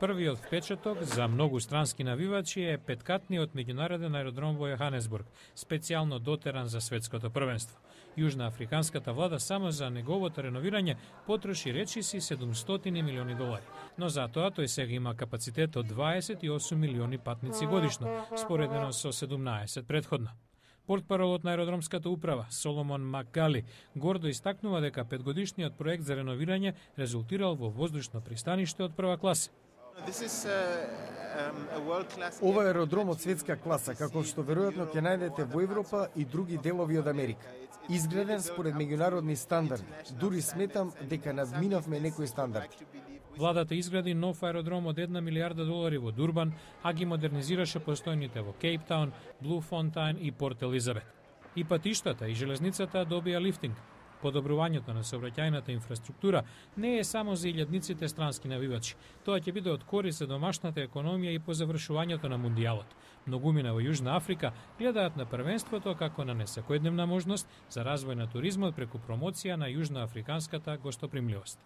Првиот впечаток за многу странски навивачи е петкатниот меѓународен аеродром во Јоханесбург, специјално дотеран за светското првенство. Јужноафриканската влада само за неговото реновирање потроши речиси $700 милиони, но затоа тој сега има капацитет од 28 милиони патници годишно, споредено со 17 предходно. Портпаролот на аеродромската управа Соломон Макгали гордо истакнува дека петгодишниот проект за реновирање резултирал во воздушно пристаниште од прва класа. Ова е аеродром од светска класа, како што веројатно ќе најдете во Европа и други делови од Америка. Изграден според меѓународни стандарди, дури сметам дека надминавме некои стандарди. Владата изгради нов аеродром од $1 милиарда во Дурбан, а ги модернизираше постојните во Кейптаун, Блуфонтајн и Порт Елизабет. И патиштата и железницата добија лифтинг. Подобрувањето на сообраќајната инфраструктура не е само за илјадниците странски навивачи. Тоа ќе биде од корист за домашната економија и по завршувањето на мундијалот. Многумина во Јужна Африка гледаат на првенството како на несекојдневна можност за развој на туризмот преку промоција на јужноафриканската гостопримливост.